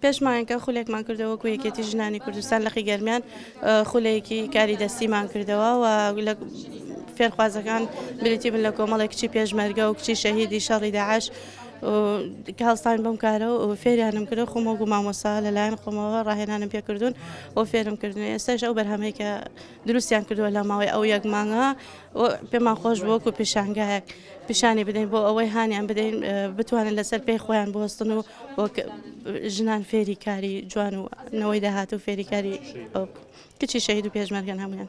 پێش مانگێکە خولێکمان کردەوە وەکو یەکێتی ژنانی کوردستان لقی گەرمیان خولێکی کاری دەستیمان کردەوە و لە فێرخوازەکان بریتی بن لە کۆمەڵێک کچی پێشمەرگە و کچی شەهیدی شەڕی داعش کە هەڵساین بەم کارە و فێریانم کرد خۆم وەکو مامۆستا لەلایەن خۆمەوە ڕاهێنانم پێکردوون و فێرم کردن. ئێستاش ئەو بەرهەمەی کە دروستیان کردووە لە ماوەی ئەو یەک مانگە پێمان خۆش بوو وەکو پیشانگایەک پیشانی بدەین بۆ ئەوەی هانیان بدەین بتوانن لەسەر پێی خۆیان بوەستن و وەک ژنان فێری کاری جوان و نەوەی داهاتوو فێری کاری کچی شەهید و پێشمەرگەن هەمویان.